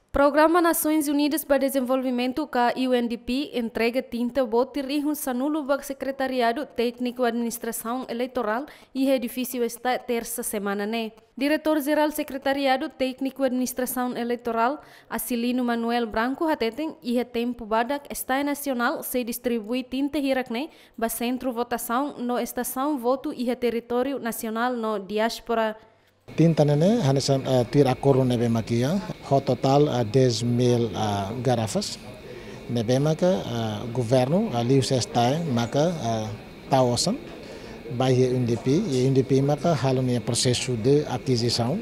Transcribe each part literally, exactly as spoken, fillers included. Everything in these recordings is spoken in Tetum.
Programa Nasoins Unidas ba Dezenvolvimentu ka U N D P entrega tinta botir rihun sanulu ba Sekretariadu Tékniku Administrasaun Eleitorál iha edifísiu STAE, tersa semana ne'e. Diretór Jerál Sekretariadu Tékniku Administrasaun Eleitorál, Acilino Manuel Branco, hateten iha tempu badak STAE Nasionál sei distribui tinta hirak ne'e ba sentru votasaun no estasaun votu iha territóriu nasionál no diáspora. Tinta ne'e ne'e hanesan, eh, tuir akordu ne'ebé mak iha, ho totál, eh, dez mil, eh, garrafas. Ne'ebé maka, eh, governu, eh, liuhusi STAE maka, eh, tau osan ba iha U N D P, i U N D P maka halo nia prosesu de akizisaun,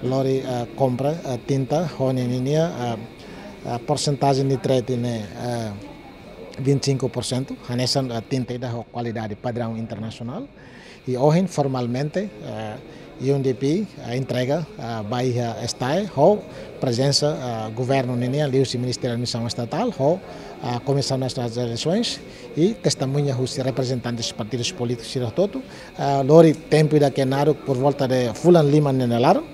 lori, eh, kompra, eh, tinta, ho ninia, eh, eh, porsentajen de trade ne'e, eh, vinte e cinco por cento, hanesan, eh, tinta ida ho kualidade padraun internasionál. I ohin formalmente, eh, U N D P, eh, entrega, eh, ba iha STAE, ho prezensa, eh, governu ninian, liuhusi Ministériu Administrasaun Estatál, ho, eh, Komisaun Nasionál de Eleisoins, i testemuña husi reprezentante partidus polítikus sira hotu-hotu, eh, lori tempu ida ke naruk por volta de fulan lima nia laran,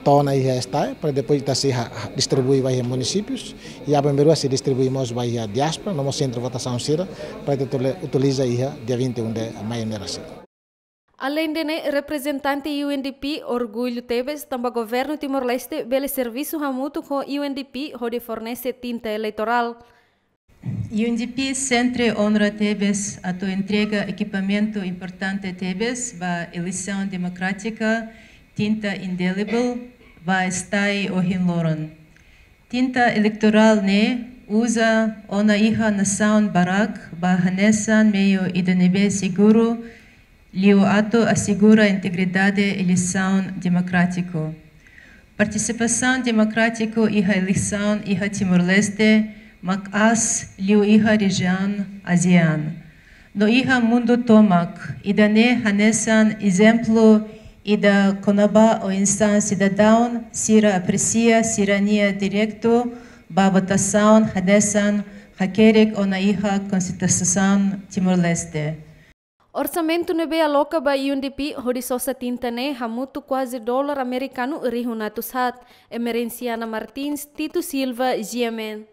to'o ona iha STAE, para depois ita sei ha-, ha-, distribui ba iha munisípius, i aban-bainrua sei distribui mós ba iha diáspora, no mós sentru votasaun sira, para ita utili-, utiliza iha dia vinte e um de maio ne'e rasik. Aleinde ne'e, reprezentante U N D P orgullu tebes tanba governu Timor-Leste bele servisu hamutuk ho U N D P hodi fornese tinta eleitorál. U N D P sempre onra tebes atu entrega ekipamentu importante tebes ba eleisaun demokrátika, tinta indelible, ba STAE ohin loron. Tinta eleitorál ne'e uza ona iha nasaun barak ba hanesan meiu ida ne'ebé seguru, liu atu asegura integridade eleisaun demokrátiku. Partisipasaun demokrátiku iha eleisaun iha Timor-Leste mak aas liu iha rejiaun ASEAN no iha mundu tomak, ida-ne'e hanesan ezemplu ida kona-ba oinsá sidadaun sira apresia sira-nia direitu ba votasaun hanesan hakerek ona iha Konstituisaun Timor-Leste. Orsamentu ne'ebé aloka ba U N D P hodi sosa tinta ne'e hamutuk kuaze dolar amerikanu rihun atus haat. Emerenciana Martins, Tito Silva, G M N.